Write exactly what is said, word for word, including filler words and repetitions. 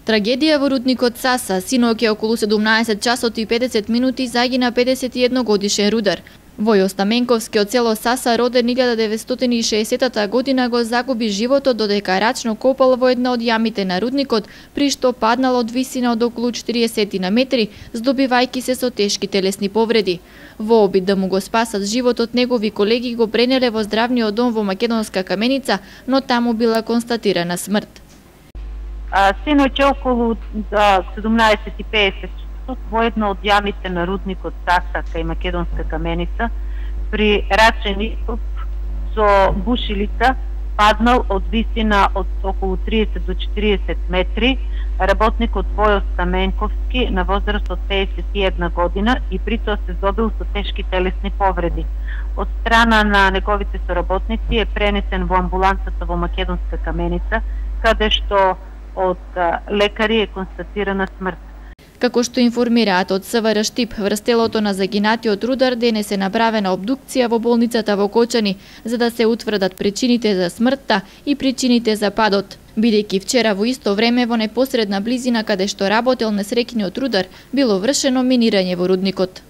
Трагедија во рудникот Саса. Синоќа околу седумнаесет часот и педесет минути загина педесет и едногодишен рудар. Војо Стаменковски од село Саса, роден илјада деветстотини и шеесеттата година, го загуби животот додека рачно копал во една од јамите на рудникот, при што паднал од висина од околу четириесет метри, здобивајќи се со тешки телесни повреди. Во обид да му го спасат животот, негови колеги го пренеле во здравниот дом во Македонска Каменица, но таму била констатирана смрт. Синоќа околу седумнаесет и педесет во една од јамите на рудникот Саса кај Македонска Каменица, при рачен ископ со бушилица, паднал од висина од околу триесет до четириесет метри работникот Војо Стаменковски на возраст од педесет и една година и при тоа се здобил со тешки телесни повреди. Од страна на неговите соработници е пренесен во амбулансата во Македонска Каменица, каде што од лекари е констатирана смрт. Како што информираат од СВР Штип, врз телото на загинатиот рудар денес е направена обдукција во болницата во Кочани, за да се утврдат причините за смртта и причините за падот. Бидејќи вчера во исто време во непосредна близина каде што работел несреќниот рудар, било вршено минирање во рудникот.